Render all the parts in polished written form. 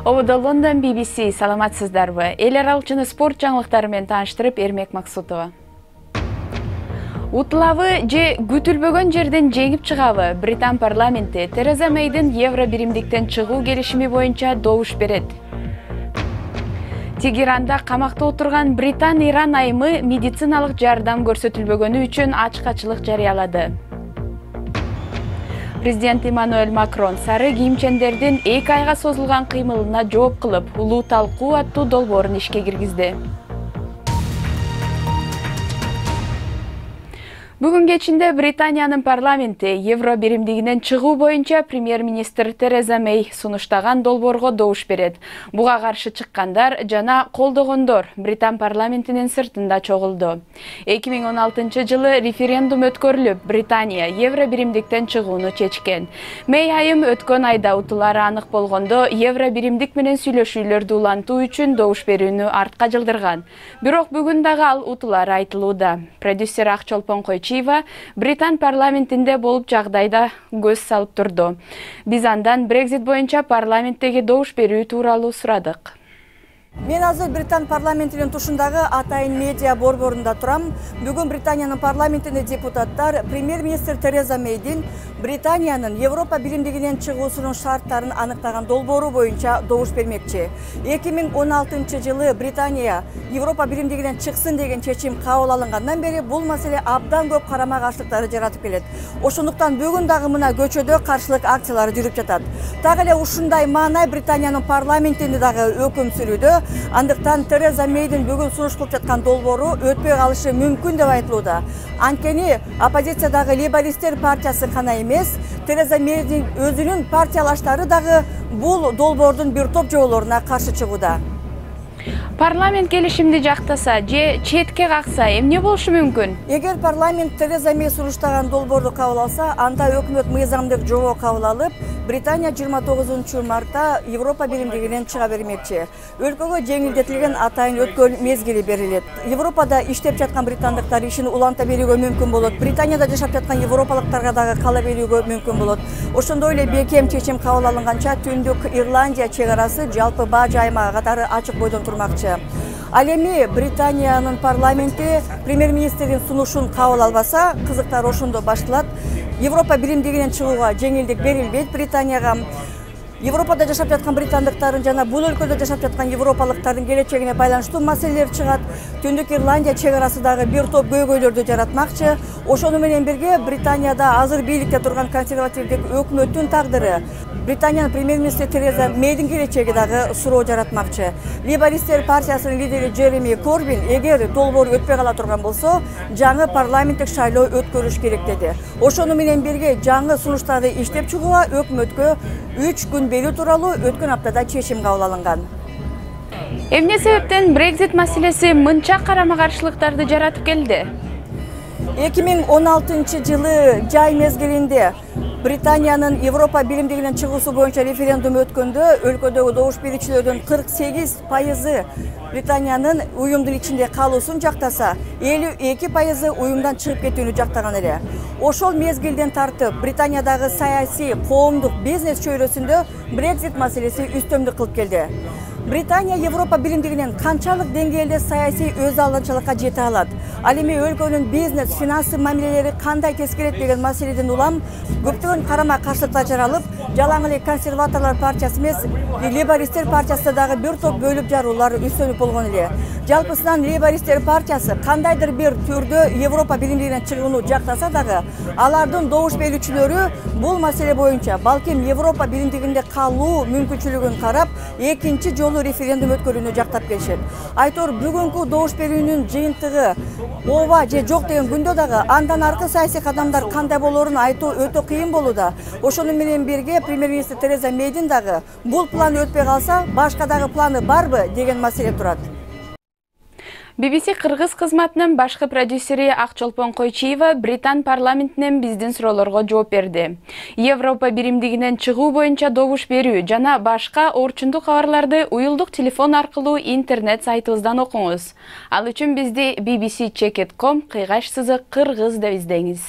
Ободо Лондон BBC, саламатсыздарбы? Эл аралык жана спорт жаңылыктары менен тааныштырып, Эрмек Максутова. Утулабы же күтүлбөгөн жерден жеңип чыгабы? Британ парламенти Тереза Мэйдин Евро биримдиктен чыгуу келишими боюнча добуш берет. Тегеранда камакта отурган Британ-Иран айымы медициналык жардам көрсөтүлбөгөнү үчүн ачкачылык жарыялады. Президент Эммануэль Макрон сары кийимчендердин 2 айга созулган кыймылына жооп кылып, улуу талкуу аттуу долбоорун ишке киргизди. Бүгүн кечинде Британиянын парламенти Евро биримдигинен чыгуу боюнча премьер-министр Тереза Мэй сунуштаган долбоорго добуш берет. Буга каршы чыккандар жана колдогондор Британ парламентинин сыртында чогулду. 2016 жылы референдум өткөрүлүп, Британия Евро биримдиктен чыгууну чечкен. Мэй айым өткөн айда утулары анык болгондо Евро биримдик менен сүйлөшүүлөрдү улантуу үчүн добуш берүүнү артка жылдырган. Бирок бүгүн дагы ал утулары айтылууда. Продюсер Акчолпон Британ парламентинде болуп жагдайда көз салып турду. Биз андан Брексит боюнча парламенттеги добуш берүү тууралуу сурадык. Мен азыр Британ парламентинин тушундагы Атайын медиа борборунда турам. Бүгүн Британиянын парламентине депутаттар премьер-министр Тереза Мэйдин Британиянын Европа биримдигинен чыгуусунун шарттарын аныктаган долбоору боюнча добуш бермекчи. 2016 жылы Британия Европа биримдигинен чыксын деген чечим кабыл алынгандан бери бул маселе абдан көп карама каршылыктарды жаратып келет. Ошондуктан бүгүн дагы мына көчөдө каршылык акциялары жүрүп жатат. Так эле ушундай маанай Британиянын парламентинде дагы өкүм сүрүүдө. Андыктан Тереза Мэйдин бүгүн сунуш кылып жаткан долбоору өтпөй калышы мүмкүн деп айтылууда. Анткени оппозициядагы Лейбористтер партиясы гана эмес, Тереза Мэйдин өзүнүн партиялаштары дагы бул долбоордун бир топ жоболоруна каршы чыгууда. Парламент келишимди жактаса же четке какса эмне болушу мүмкүн? Эгер парламент Тереза Мэй сунуштаган долбоорду кабыл алса, анда өкмөт мыйзамдык жобо кабыл алып, Британия 29 мартта Европа биримдигинен чыга бермекчи. Өлкөгө жеңилдетилген атайын өткөн мезгили берилет. Европада иштеп жаткан британдыктар ишин уланта берүүгө мүмкүн болот. Британияда жашап жаткан европалыктарга дагы кала берүүгө мүмкүн болот. Ошондой эле бекем чечим кабыл алынганча Түндүк Ирландия чек арасы жалпы бажы аймагы катары ачык бойдон турмакчы. Ал эми Британиянын парламенти премьер-министрдин сунушун кабыл албаса, кызыктар ошондо башталат. Европа биримдигинен чыгууга жеңилдик берилбейт Британияга. Европада жашап жаткан британдыктардын жана бул өлкөдө жашап жаткан европалыктардын келечегине байланыштуу маселелер чыгат. Түндүк Ирландия чек арасы дагы бир топ көйгөйлөрдү жаратмакчы. Ошону менен бирге Британияда азыр бийликте турган консервативдик өкмөттүн тагдыры, Британиянын премьер-министри Тереза Мэйдин келечеги дагы суроо жаратмакчы. Лейбористтер партиясынын лидери Джереми Корбин эгер долбоор өтпөй кала турган болсо, жаңы парламенттик шайлоо өткөрүш керек деди. Ошону менен бирге жаңы сунуштарды иштеп чыгууга өкмөткө 3 күн берүү тууралуу өткөн аптада чечим кабыл алынган. Эмне себептен Брексит маселеси мынча карама каршылыктарды жаратып келди? 2016 жылы жай мезгилинде Британиянын Европа биримдигинен чыгуусу боюнча референдум өткөндө өлкөдөгү добуш берүүчүлөрдүн 48% Британиянын уюмдун ичинде калуусун жактаса, 52% уюмдан чыгып кетүүнү жактаган эле. Ошол мезгилден тартып Британиядагы саясий, коомдук, бизнес чөйрөсүндө Брексит маселеси үстөмдүк кылып келди. Британия Европа биримдигинен канчалык деңгээлде саясий өз алынчалыкка жете алат? Ал эми өлкөнүн бизнес, финансы мамилелери кандай тескерет деген маселеден улам көптөгөн карама каршылыктар жаралып, жалаң эле консерваторлор партиясы эмес, Лейбористтер партиясында дагы бир топ бөлүп жаруулар үстөлүп болгон эле. Жалпысынан Лейбористтер партиясы кандайдыр бир түрдө Европа биримдигинен чыгууну жактаса дагы, алардын добуш берүүчүлөрү бул маселе боюнча балким Европа биримдигинде калуу мүмкүнчүлүгүн карап, экинчи жолу референдум өткөрүүнү жактап келишет. Айтор бүгүнкү добуш берүүнүн жыйынтыгы ооба же жок деген күндө дагы андан аркы саясий кадамдар кандай болоорун айтуу өтө кыйын болууда. Ошону менен бирге премьер-министр Тереза Мэйдин дагы бул план өтпөй калса, башка дагы планы барбы деген маселе турат. BBC Кыргыз кызматынын башкы продюсери Акчолпон Койчиева Британ парламентинен биздин суроолорго жооп берди. Европа биримдигинен чыгуу боюнча добуш берүү жана башка орчундук кабарларды уюлдук телефон аркылуу интернет сайтыбыздан окуңуз. Ал үчүн бизди bbc.com /кыргыз деп издеңиз.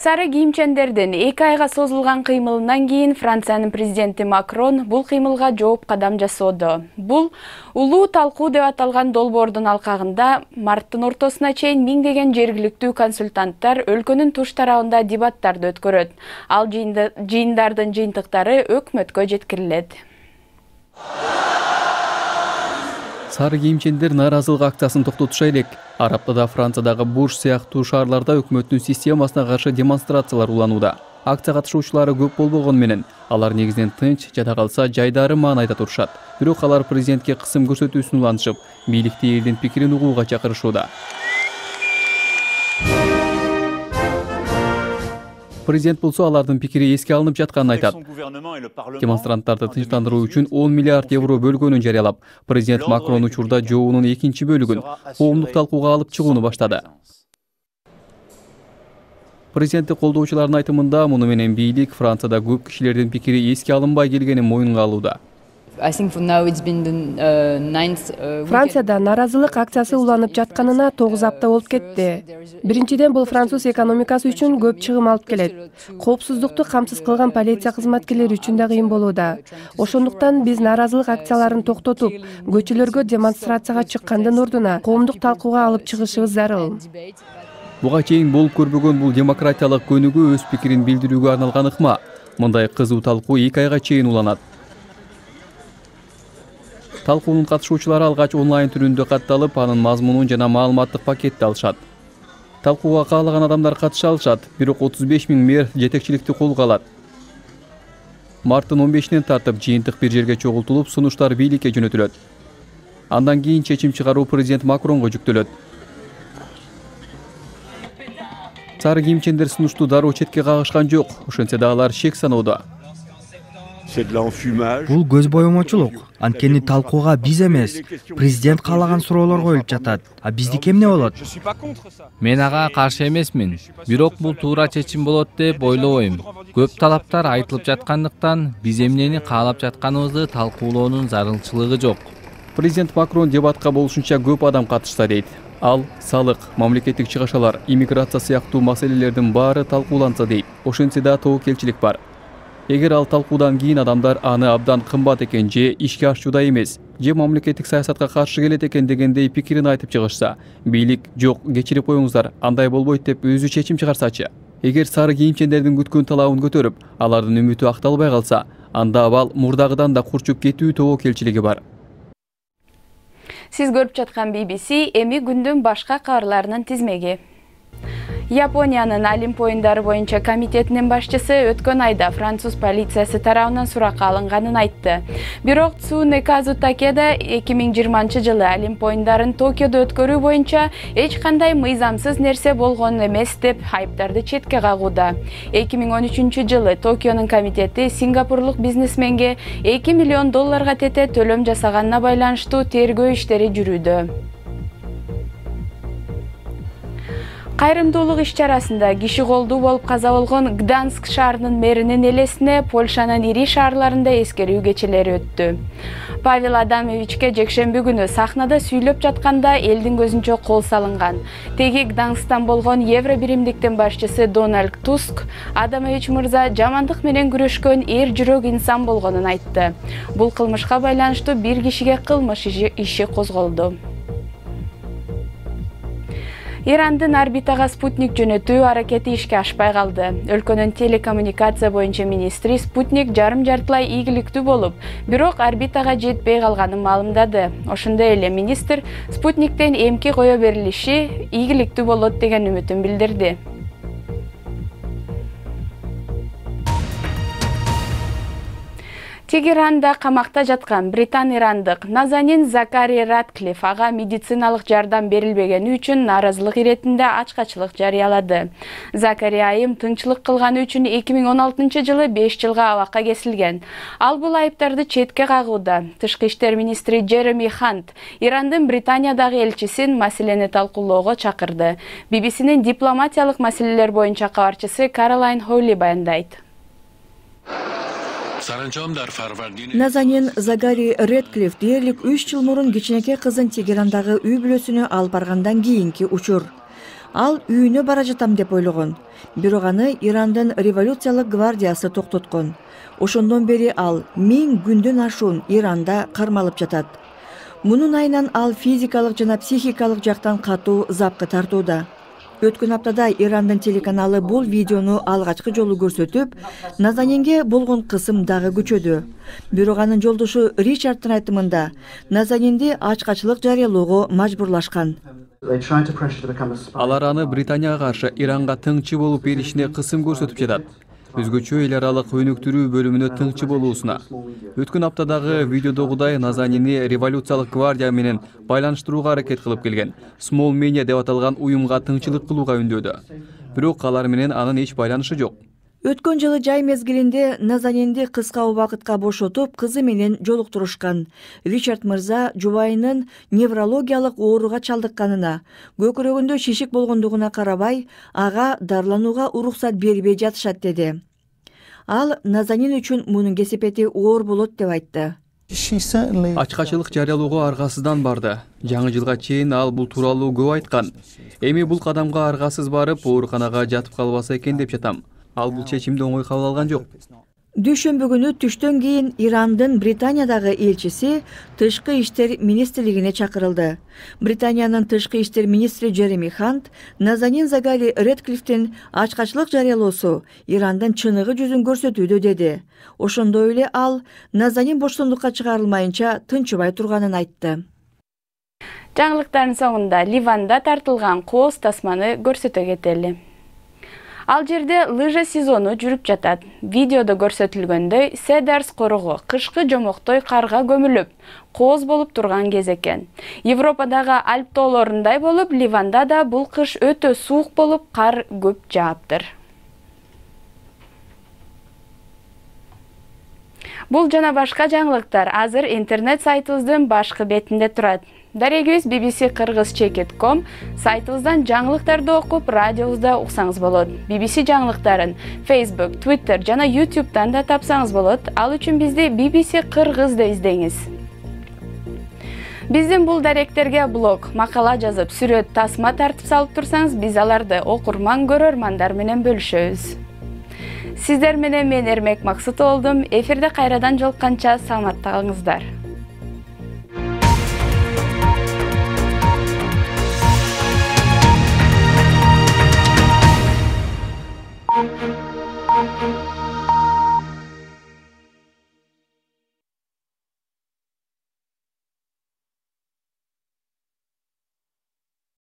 Сары кийимчендердин 2 айга созулган кыймылынан кийин Франциянын президенти Макрон бул кыймылга жооп кадам жасоодо. Бул улуу талкуу деп аталган долбоордун алкагында марттын ортосуна чейин миңдеген жергиликтүү консультанттар өлкөнүн туш тарабында дебаттарды өткөрөт. Ал жыйындардын жыйынтыктары өкмөткө жеткирилет. Сары кийимчендер нааразылык акциясын токтотуша элек. Араптада Франциядагы Бурж сыяктуу шаарларда өкмөттүн системасына каршы демонстрациялар уланууда. Акция катышуучулары көп болбогону менен, алар негизинен тынч, жада калса жайдары маанайда турушат. Бирок алар президентке кысым көрсөтүүсүн улантышып, бийликти элдин пикирин угууга чакырышууда. Президент болсо алардын пикири эске алынып жатканын айтат. Демонстранттарды тынчтандыруу үчүн 10 миллиард евро бөлгөнүн жарыялап, президент Макрон учурда жообунун экинчи бөлүгүн коомдук талкууга алып чыгууну баштады. Президентти колдоочулардын айтымында, муну менен бийлик Францияда көп кишилердин пикири эске алынбай келгенин моюнга алууда. Францияда нааразылык акциясы уланып жатканына 9 апта болуп кетти. Биринчиден, бул француз экономикасы үчүн көп чыгым алып келет. Коопсуздукту камсыз кылган полиция кызматкерлери үчүн да кыйын болууда. Ошондуктан биз нааразылык акцияларын токтотуп, көчөлөргө демонстрацияга чыккандын ордуна коомдук талкууга алып чыгышыбыз зарыл. Буга чейин болуп көрбөгөн бул демократиялык көнүгүү өз пикирин билдирүүгө арналган ыкма. Мындай кызуу талкуу 2 айга чейин уланат. Талкуунун катышуучулары алгач онлайн түрүндө катталып, анын мазмунун жана маалыматтык пакетти алышат. Талкууга каалаган адамдар катыша алышат, бирок 35 000 мэр жетекчиликти колго алат. Марттын 15-инен тартып жыйынтык бир жерге чогултулуп, сунуштар бийликке жөнөтүлөт. Андан кийин чечим чыгаруу президент Макронго жүктөлөт. Сары кийимчендер сунушту дароо четке кагышкан жок, ошентсе да алар шек саноодо. Бул көз боемочулук. Анткени талкууга биз эмес, президент каалаган суроолор коюлуп жатат. А биздики эмне болот? Мен ага каршы эмесмин. Бирок бул туура чечим болот деп ойлобойм. Көп талаптар айтылып жаткандыктан биз эмнени каалап жатканыбызды талкуулоонун зарылчылыгы жок. Президент Макрон дебатка болушунча көп адам катышса дейт. Ал салык, мамлекеттик чыгашалар, иммиграция сыяктуу маселелердин баары талкууланса дейт. Ошентсе да тобокелчилик бар. Эгер ал талкуудан кийин адамдар аны абдан кымбат экен же ишке ашууда эмес, же мамлекеттик саясатка каршы келет экен дегендей пикирин айтып чыгышса, бийлик жок, кечирип коюңуздар, андай болбойт деп өзү чечим чыгарсачы. Эгер сары кийимчендердин күткөн талабын көтөрүп, алардын үмүтү акталбай калса, анда абал мурдагыдан да курчуп кетүү тобокелчилиги бар. Сиз көрүп жаткан BBC эми күндүн башка кабарларынын тизмеги. Япониянын Олимп оюндары боюнча комитетинин башчысы өткөн айда француз полициясы тарабынан суракка алынганын айтты. Бирок Цунэказу Такеда 2020-жылы Олимп оюндарын Токиодо өткөрүү боюнча эч кандай мыйзамсыз нерсе болгон эмес деп айыптарды четке кагууда. 2013-жылы Токионун комитети сингапурлук бизнесменге $2 миллион тете төлөм жасаганына байланыштуу тергөө иштери жүрүүдө. Кайрымдуулук иш-чарасында киши колдуу болуп каза болгон Гданск шаарынын мэринин элесине Польшанын ири шаарларында эскерүү кечелери өттү. Павел Адамовичке жекшемби күнү сахнада сүйлөп жатканда элдин көзүнчө кол салынган. Теги Гдансктан болгон Евро биримдиктин башчысы Дональд Туск Адамович мырза жамандык менен күрөшкөн эр жүрөк инсан болгонун айтты. Бул кылмышка байланыштуу бир кишиге кылмыш иши козголду. Ирандын орбитага спутник жөнөтүү аракети ишке ашпай калды. Өлкөнүн телекоммуникация боюнча министри спутник жарым-жартылай ийгиликтүү болуп, бирок орбитага жетпей калганын маалымдады. Ошондой эле министр спутниктен эмки кое берилиши ийгиликтүү болот деген үмүтүн билдирди. Тегеранда камакта жаткан британ-ирандык Назанин Закари Ратклифф ага медициналык жардам берилбегени үчүн нааразылык иретинде ачкачылык жарыялады. Закари айым тынчылык кылганы үчүн 2016-жылы 5 жылга абакка кесилген. Ал бул айыптарды четке кагууда. Тышкы иштер министри Джереми Хант Ирандын Британиядагы элчисин маселени талкуулоого чакырды. BBC'нин дипломатиялык маселелер боюнча кабарчысы Каролайн Холли баяндайт. Назанин Закари Ратклифф дээрлик 3 жыл мурун кичинекей кызын Тегерандагы үй бүлөсүнө алып баргандан кийинки учур. Ал үйүнө бара жатам деп ойлогон. Бирок аны Ирандын революциялык гвардиясы токтоткон. Ошондон бери ал 1000 күндөн ашуун Иранда кармалып жатат. Мунун айынан ал физикалык жана психикалык жактан катуу запка тартууда. Өткөн аптада Ирандын телеканалы бул видеону алгачкы жолу көрсөтүп, Назанинге болгон кысым дагы күчөдү. Бирок анын жолдошу Ричардтын айтымында Назанинди ачкачылык жарыялоого мажбурлашкан. Алар аны Британияга каршы Иранга тыңчы болуп беришине кысым көрсөтүп жатат. Өзгөчө эл аралык өнүктүрүү бөлүмүнө тыңчы болуусуна. Өткөн аптадагы видеодогудай Назанини революциялык гвардия менен байланыштырууга аракет кылып келген Small Media деп аталган уюмга тыңчылык кылууга үндөөдү. Бирок алар менен анын эч байланышы жок. Өткөн жылы жай мезгилинде Назанинди кыска убакытка бошотуп, кызы менен жолуктурушкан. Ричард мырза жубайынын неврологиялык ооруга чалдыкканына, көкүрөгүндө шишик болгондугуна карабай, ага дарыланууга уруксат бербей жатышат деди. Ал Назанин үчүн мунун кесепети оор болот деп айтты. Ачкачылык жарыялоого аргасыздан барды. Жаңы жылга чейин ал бул тууралуу көп айткан. Эми бул кадамга аргасыз барып, ооруканага жатып калбаса экен деп жатам. Ал бул чечимди оңой кабыл алган жок. Дүйшөмбү күнү түштөн кийин Ирандын Британиядагы элчиси Тышкы иштер министрлигине чакырылды. Британиянын Тышкы иштер министри Джереми Хант Назанин Загали Редклифтин ачкачылык жарыялоосу Ирандын чыныгы жүзүн көрсөтүүдө деди. Ошондой эле ал Назанин боштондукка чыгарылмайынча тынчыбай турганын айтты. Жаңылыктардын соңунда Ливанда тартылган кооз тасманы көрсөтө кетели. Ал жерде лыжа сезону жүрүп жатат. Видеодо көрсөтүлгөндөй, Седарс корого кышкы жомоктой карга көмүлүп, кооз болуп турган кез экен. Европадагы Альп тоолорундай болуп, Ливанда да бул кыш өтө суук болуп, кар көп жааптыр. Бул жана башка жаңылыктар азыр интернет сайтыбыздын башкы бетинде турат. Дарегибиз bbc-kырgызчекет.com сайтыбыздан жаңылыктарды окуп, радиобузда уксаңыз болот. BBC жаңылыктарын Facebook, Twitter жана YouTube'дан да тапсаңыз болот. Ал үчүн бизди BBC Кыргыз деп издеңиз. Биздин бул даректерге блог, макала жазып, сүрөт, тасма тартып салып турсаңыз, биз аларды окурман, көрөрмандар менен бөлүшөбүз. Сиздер менен мен Эрмек Максут болдум. Эфирде кайрадан жолукканча саламатта калыңыздар.